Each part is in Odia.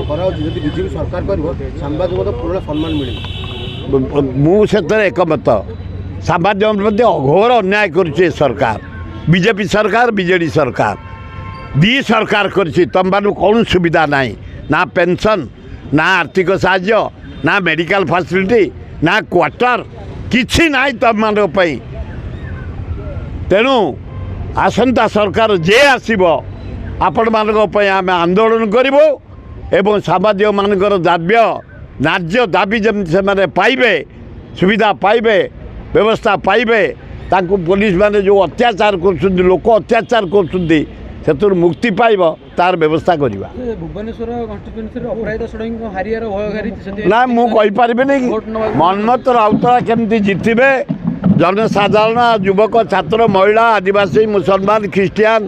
କରାହେଉଛି, ଯଦି ବିଜେପି ସରକାର କରିବ ସାମ୍ବାଦିକଙ୍କ ପୁରୁଣା ସମ୍ମାନ ମିଳିବ। ମୁଁ ସେଥିରେ ଏକମତ। ସାମ୍ବାଦିକ ପ୍ରତି ଅଘୋର ଅନ୍ୟାୟ କରୁଛି ଏ ସରକାର, ବିଜେପି ସରକାର, ବିଜେଡ଼ି ସରକାର, ଦୁଇ ସରକାର କରିଛି। ତୁମମାନଙ୍କୁ କୌଣସି ସୁବିଧା ନାହିଁ, ନା ପେନସନ୍, ନା ଆର୍ଥିକ ସାହାଯ୍ୟ, ନା ମେଡ଼ିକାଲ ଫାସିଲିଟି, ନା କ୍ୱାର୍ଟର, କିଛି ନାହିଁ ତୁମମାନଙ୍କ ପାଇଁ। ତେଣୁ ଆସନ୍ତା ସରକାର ଯିଏ ଆସିବ, ଆପଣମାନଙ୍କ ପାଇଁ ଆମେ ଆନ୍ଦୋଳନ କରିବୁ ଏବଂ ସାମ୍ବାଦିକମାନଙ୍କର ଦାବ୍ୟ ନ୍ୟାଯ୍ୟ ଦାବି ଯେମିତି ସେମାନେ ପାଇବେ, ସୁବିଧା ପାଇବେ, ବ୍ୟବସ୍ଥା ପାଇବେ, ତାଙ୍କୁ ପୋଲିସ ମାନେ ଯେଉଁ ଅତ୍ୟାଚାର କରୁଛନ୍ତି, ଲୋକ ଅତ୍ୟାଚାର କରୁଛନ୍ତି, ସେଥିରୁ ମୁକ୍ତି ପାଇବ, ତାର ବ୍ୟବସ୍ଥା କରିବା। ଭୁବନେଶ୍ୱର କନଷ୍ଟିଚୁଏନ୍ସିରେ ଅପରାଜିତା ଷଡ଼ଙ୍ଗୀଙ୍କ ହାରିବାର ଭୟ ଘାରିଛି? ନା, ମୁଁ କହିପାରିବିନି। ମନ୍ମଥ ରାଉତରା କେମିତି ଜିତିବେ, ଜନସାଧାରଣ, ଯୁବକ, ଛାତ୍ର, ମହିଳା, ଆଦିବାସୀ, ମୁସଲମାନ, ଖ୍ରୀଷ୍ଟିଆନ,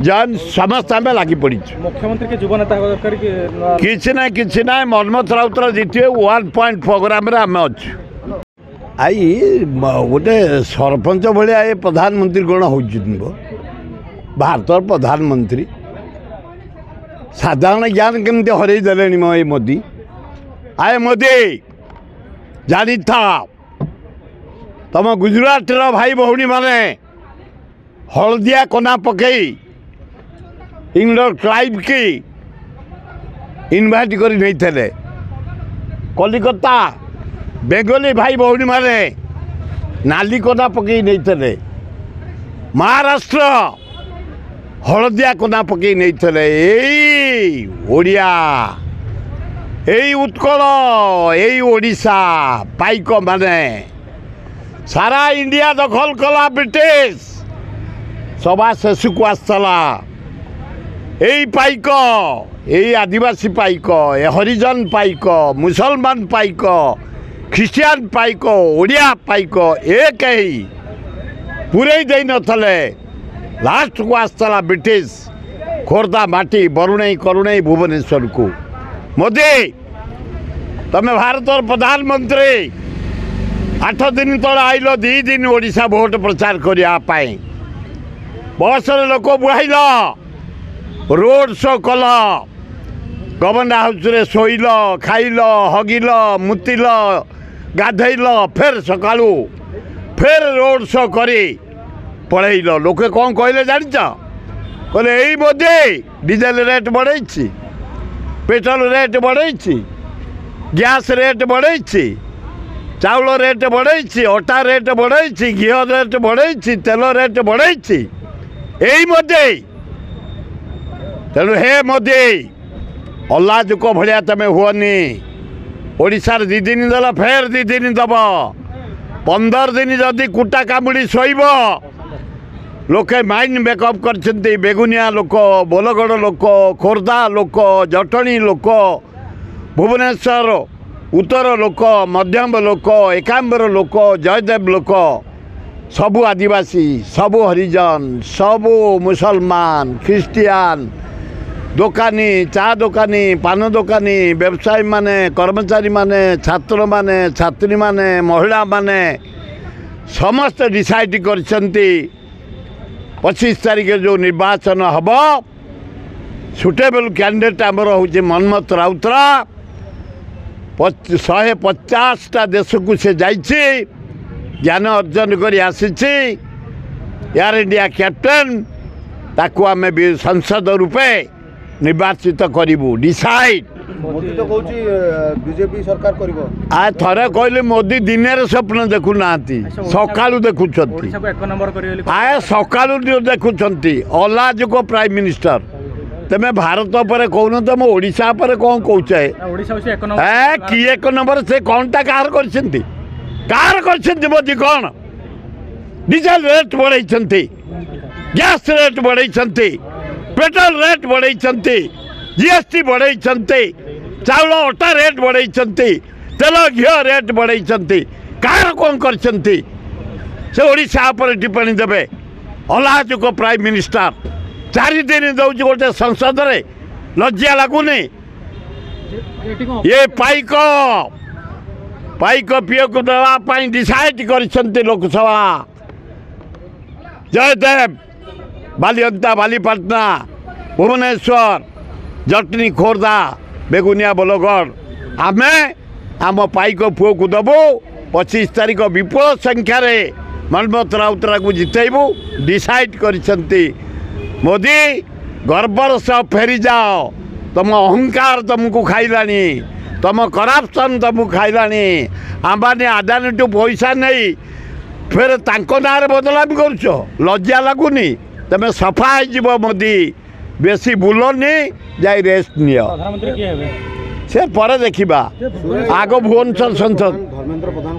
ଜୈନ ସମସ୍ତେ ଆମେ ଲାଗି ପଡ଼ିଛୁ। ମୁଖ୍ୟମନ୍ତ୍ରୀ ଯୁବ ନେତା ହେବା ଦରକାର କି? କିଛି ନାହିଁ, କିଛି ନାହିଁ। ମନ୍ମଥ ରାଉତରା ଜିତିବେ, ୱାନ୍ ପଏଣ୍ଟ ପ୍ରୋଗ୍ରାମରେ ଆମେ ଅଛୁ। I, ଗୋଟେ ସରପଞ୍ଚ ଭଳିଆ ଏ ପ୍ରଧାନମନ୍ତ୍ରୀ କ'ଣ ହେଉଛନ୍ତି ଭାରତର ପ୍ରଧାନମନ୍ତ୍ରୀ? ସାଧାରଣ ଜ୍ଞାନ କେମିତି ହରେଇ ଦେଲେଣି ମ ଏ ମୋଦି। ଆଏ ମୋଦି, ଜାଣିଥା, ତମ ଗୁଜୁରାଟର ଭାଇ ଭଉଣୀମାନେ ହଳଦିଆ କନା ପକେଇ ଇଂଲଣ୍ଡ କ୍ଲାଇଭ୍କି ଇନଭାଇଟ୍ କରି ନେଇଥିଲେ। କଲିକତା ବେଙ୍ଗଲୀ ଭାଇ ଭଉଣୀମାନେ ନାଲି କନା ପକେଇ ନେଇଥିଲେ। ମହାରାଷ୍ଟ୍ର ହଳଦିଆ କନା ପକେଇ ନେଇଥିଲେ। ଏଇ ଓଡ଼ିଆ, ଏଇ ଉତ୍କଳ, ଏଇ ଓଡ଼ିଶା ପାଇକ ମାନେ ସାରା ଇଣ୍ଡିଆ ଦଖଲ କଲା। ବ୍ରିଟିଶ ସଭା ଶେଷକୁ ଆସିଥିଲା। ଏଇ ପାଇକ, ଏଇ ଆଦିବାସୀ ପାଇକ, ଏ ହରିଜନ ପାଇକ, ମୁସଲମାନ ପାଇକ, ଖ୍ରୀଷ୍ଟିଆନ ପାଇକ, ଓଡ଼ିଆ ପାଇକ ଏକ ହେଇ ପୁରେଇ ଦେଇନଥିଲେ। ଲାଷ୍ଟକୁ ଆସିଥିଲା ବ୍ରିଟିଶ ଖୋର୍ଦ୍ଧା ମାଟି, ବରୁଣେଇ, କରୁଣେଇ, ଭୁବନେଶ୍ୱରକୁ। ମୋଦି, ତମେ ଭାରତର ପ୍ରଧାନମନ୍ତ୍ରୀ, 8 ଦିନ ତଳେ ଆଇଲ 2 ଦିନ ଓଡ଼ିଶା ଭୋଟ ପ୍ରଚାର କରିବା ପାଇଁ। ବସରେ ଲୋକ ବୁହାଇଲ, ରୋଡ଼ ଶୋ କଲ, ଗଭର୍ଣ୍ଣର ହାଉସରେ ଶୋଇଲ, ଖାଇଲ, ହଗିଲ, ମୁତିଲ, ଗାଧେଇଲ, ଫେର ସକାଳୁ ଫେର ରୋଡ଼ ଶୋ କରି ପଳେଇଲ। ଲୋକେ କ'ଣ କହିଲେ ଜାଣିଛ? କହିଲେ ଏଇ ମୋଦି ଡିଜେଲ ରେଟ୍ ବଢ଼େଇଛି, ପେଟ୍ରୋଲ ରେଟ୍ ବଢ଼େଇଛି, ଗ୍ୟାସ୍ ରେଟ୍ ବଢ଼େଇଛି, ଚାଉଳ ରେଟ୍ ବଢ଼େଇଛି, ଅଟା ରେଟ୍ ବଢ଼େଇଛି, ଘିଅ ରେଟ୍ ବଢ଼େଇଛି, ତେଲ ରେଟ୍ ବଢ଼େଇଛି ଏଇ ମୋଦି। ତେଣୁ ହେ ମୋଦି, ଅଲାଜୁକ ଭଳିଆ ତମେ ହୁଅନି। ଓଡ଼ିଶାରେ 2 ଦିନ ଦେଲ, ଫେର 2 ଦିନ ଦେବ, 15 ଦିନ ଯଦି କୁଟା କାମୁଡ଼ି ଶୋଇବ। ଲୋକେ ମାଇଣ୍ଡ ମେକଅପ୍ କରିଛନ୍ତି। ବେଗୁନିଆ ଲୋକ, ବୋଲଗଡ଼ ଲୋକ, ଖୋର୍ଦ୍ଧା ଲୋକ, ଜଟଣୀ ଲୋକ, ଭୁବନେଶ୍ୱର ଉତ୍ତର ଲୋକ, ମଧ୍ୟମ ଲୋକ, ଏକାମ୍ବର ଲୋକ, ଜୟଦେବ ଲୋକ, ସବୁ ଆଦିବାସୀ, ସବୁ ହରିଜନ, ସବୁ ମୁସଲମାନ, ଖ୍ରୀଷ୍ଟିଆନ, ଦୋକାନୀ, ଚା ଦୋକାନୀ, ପାନ ଦୋକାନୀ, ବ୍ୟବସାୟୀମାନେ, କର୍ମଚାରୀମାନେ, ଛାତ୍ରମାନେ, ଛାତ୍ରୀମାନେ, ମହିଳାମାନେ ସମସ୍ତେ ଡିସାଇଡ଼ କରିଛନ୍ତି, 25 ତାରିଖରେ ଯେଉଁ ନିର୍ବାଚନ ହେବ, ସୁଟେବଲ୍ କ୍ୟାଣ୍ଡିଡେଟ୍ ଆମର ହେଉଛି ମନ୍ମଥ ରାଉତରା। 150ଟା ଦେଶକୁ ସେ ଯାଇଛି, ଜ୍ଞାନ ଅର୍ଜନ କରି ଆସିଛି, ଏୟାର ଇଣ୍ଡିଆ କ୍ୟାପ୍ଟେନ୍। ତାକୁ ଆମେ ସାଂସଦ ରୂପେ ନିର୍ବାଚିତ କରିବୁ, ଡିସାଇଡ୍। ମୋଦି ତ କହୁଛି ବିଜେପି ସରକାର କରିବ। ଆ ଥରେ କହିଲେ, ମୋଦି ଦିନରେ ସ୍ୱପ୍ନ ଦେଖୁନାହାନ୍ତି, ସକାଳୁ ଦେଖୁଛନ୍ତି। ଓଡ଼ିଶାକୁ ଏକ ନମ୍ବର କରିବେ ବୋଲି ଆଏ, ସକାଳୁ ଦେଖୁଛନ୍ତି। ଅଲାଜୁକ ପ୍ରାଇମ୍ ମିନିଷ୍ଟର। ତମେ ଭାରତ ଉପରେ କହୁନ, ତମ ଓଡ଼ିଶା ଉପରେ କ'ଣ କହୁଛ? ଓଡ଼ିଶା ହେଉଛି ଏକ ନମ୍ବର। ଏ କି ଏକ ନମ୍ବର? ସେ କ'ଣଟା କାହାର କରିଛନ୍ତି? କାହାର କରିଛନ୍ତି ମୋଦି? କ'ଣ ଡିଜେଲ ରେଟ୍ ବଢ଼େଇଛନ୍ତି, ଗ୍ୟାସ୍ ରେଟ୍ ବଢ଼େଇଛନ୍ତି, ପେଟ୍ରୋଲ ରେଟ୍ ବଢ଼େଇଛନ୍ତି, ଜିଏସ୍ଟି ବଢ଼େଇଛନ୍ତି, ଚାଉଳ ଅଟା ରେଟ୍ ବଢ଼େଇଛନ୍ତି, ତେଲ ଘିଅ ରେଟ୍ ବଢ଼େଇଛନ୍ତି। କାହାର କ'ଣ କରିଛନ୍ତି? ସେ ଓଡ଼ିଶା ଉପରେ ଟିପ୍ପଣୀ ଦେବେ? ଅଲାଜୁକ ପ୍ରାଇମ୍ ମିନିଷ୍ଟର। 4 ଦିନ ଦେଉଛି ଗୋଟେ ସଂସଦରେ, ଲଜ୍ଜା ଲାଗୁନି? ଏଠି କ'ଣ ଏ ପାଇକ ପିଅକୁ ଦେବା ପାଇଁ ଡିସାଇଡ୍ କରିଛନ୍ତି ଲୋକସଭା। ଜୟଦେବ, ବାଲିଅନ୍ତା, ବାଲିପାଟଣା, ଭୁବନେଶ୍ୱର, ଜଟଣୀ, ଖୋର୍ଦ୍ଧା, ବେଗୁନିଆ ବୋଲଗଡ଼। ଆମେ ଆମ ପାଇକ ପୁଅକୁ ଦେବୁ। 25 ତାରିଖ ବିପୁଳ ସଂଖ୍ୟାରେ ମନ୍ମଥ ରାଉତରାକୁ ଜିତେଇବୁ, ଡିସାଇଡ୍ କରିଛନ୍ତି ମୋଦି। ଗର୍ବର ସହ ଫେରିଯାଅ। ତମ ଅହଙ୍କାର ତୁମକୁ ଖାଇଲାଣି, ତମ କରାପସନ୍ ତୁମକୁ ଖାଇଲାଣି। ଆମ୍ବାନୀ ଆଦାନୀଠୁ ପଇସା ନେଇ ଫେର ତାଙ୍କ ନାଁରେ ବଦନାମି କରୁଛ, ଲଜ୍ଜା ଲାଗୁନି? ତମେ ସଫା ହେଇଯିବ ମୋଦି। ବେଶୀ ବୁଲନି, ଯାଇ ରେଷ୍ଟ ନିଅ। ସେ ପରେ ଦେଖିବା, ଆଗ ଭୁବନେଶ୍ୱର ସଂସଦ। ଧର୍ମେନ୍ଦ୍ର ପ୍ରଧାନ।